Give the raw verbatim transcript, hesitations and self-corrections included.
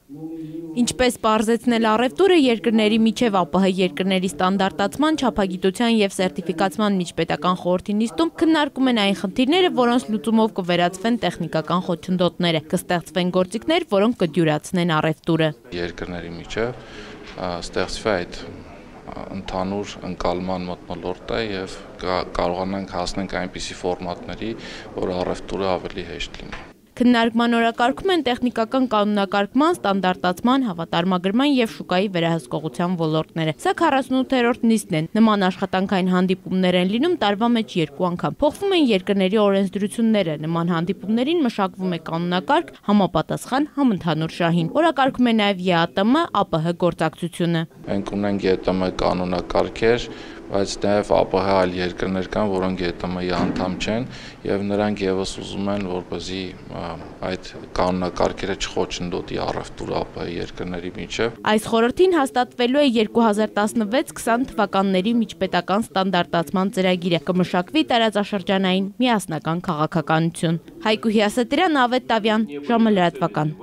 Ինչպես պարզեցնել առևտուրը երկրների միջև ԱՊՀ երկրների ստանդարտացման, չափագիտության և սերտիֆիկացման միջպետական խորհրդի նիստում քննարկում են այն խնդիրները, որոնց լուծումով կվերացվեն տեխնիկական խոչընդոտները, կստեղծվեն գործիքներ, որոնք կդյուրացնեն առևտուրը։ Երկրների միջև ստեղծվի այդ ընդհանուր ընկալման մթնոլորտը և կարողանանք հասնենք այնպիսի ֆորմատների, որ առևտուրը ավելի հեշտ լինի։ Քննարկման օրակարգում են տեխնիկական կանոնակարգման, ստանդարտացման, հավատարմագրման և շուկայի վերահսկողության ոլորտները։ Սա քառասունութերորդ նիստն է։ Նման աշխատանքային հանդիպումներ են լինում տարվա մեջ երկու անգամ։ Փոխվում են երկրների օրենսդրությունները։ Նման հանդիպումներին մշակվում է կանոնակարգ, համապատասխան համընդհանուր շահին։ Օրակարգում է նաև ԵԱՏՄ ԱՊՀ գործակցությունը։ Մենք ունենք ԵՏՄ կանոնակարգեր, բայց նաև ԱՊՀ այլ երկրներ կան, որոնք ԵՏՄ-ի անդամ չեն, և նրանք ևս ուզում են, որպեսզի այդ կանոնակարգերը չխոչընդոտի առևտուրը ԱՊՀ երկրների միջև։ Այս խորհրդին հաստատվելու է երկու հազար տասնվեց քսան թվականների միջպետական ստանդարտացման ծրագիրը, կմշակվի տարածաշրջանային միասնական քաղաքականություն։ Հայկուհի Ասատրյան, Ավետ Տավյան, ժամը լրատվական։